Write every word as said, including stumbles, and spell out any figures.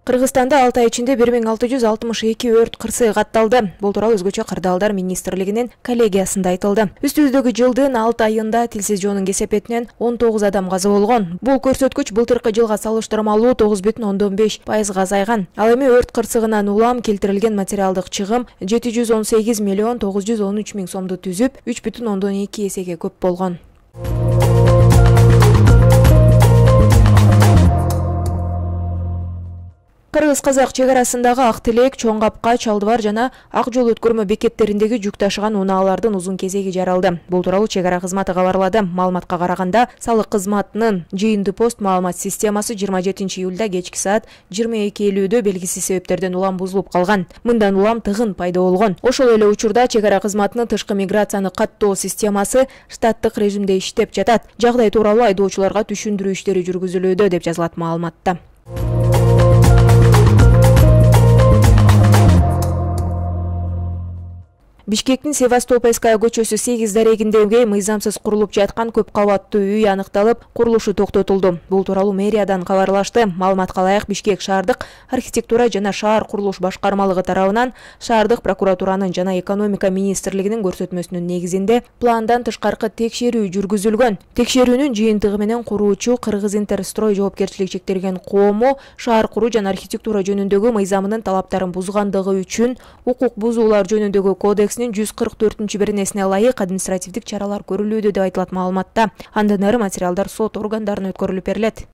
Кыргызстанда алты ай ичинде бир миң алты жүз алтымыш эки өрт кырсыгы катталды. Бул тууралуу өзгөчө Кырдаалдар министрлигинин коллегиясында айтылды. Үстүбүздөгү жылдын алты айында тилсиз жоонун кесепетинен он тогуз адам каза болгон. Бул көрсөткүч былтыркы жылга салыштырмалуу тогуз бүтүн ондон беш пайызга азайган. Ал эми өрт кырсыгынан улам келтирилген материалдык чыгым жети жүз он сегиз миллион тогуз жүз он үч миң сомду түзүп, үч бүтүн ондон эки эсеге көп болгон. Кыргыз-казак чек арасындагы Ак Тилек, Чоң Капка, Чалдыбар жана Ак жол өткөрмө бекеттериндеги жүк ташыган унаалардын узун кезеги жаралды. Бул тууралуу чек ара кызматы кабарлады. Маалыматка караганда, салык кызматынын жыйынды пост маалымат системасы жыйырма жетинчи июлда кечки саат жыйырма эки элүүдө белгисиз себептерден улам бузулуп калган. Мындан улам тыгын пайда болгон. Ошол эле учурда чек ара кызматынын тышкы миграцияны каттоо системасы штаттык режимде иштеп жатат. Жагдай тууралуу айдоочуларга түшүндүрүү иштери жүргүзүлүүдө деп жазылат маалыматта. Бишкектин Севастопольская көчөсү сегиз дарегиндеги мыйзамсыз курулуп жаткан көп кабаттуу үй аныкталып, курулушу токтотулду. Бул тууралуу мэриядан кабарлашты. Маалыматка ылайык, Бишкек шаардык архитектура жана шаар курулуш башкармалыгы тарабынан шаардык прокуратуранын жана экономика министрлигинин көрсөтмөсүнүн негизинде пландан тышкаркы текшерүү жүргүзүлгөн. Текшерүүнүн жыйынтыгы менен куруучу Кыргыз Интерстрой жоопкерчилиги чектелген коомо шаар куруу жана архитектура жөнүндөгү мыйзамынын талаптарын бузгандыгы үчүн укук бузуулар жөнүндөгү кодекс жүз кырк төртүнчү беренесине ылайык административдик чаралар көрүлүүдө деп айтылат маалыматта. Андан ары материалдар сот органдарына өткөрүлүп берилет.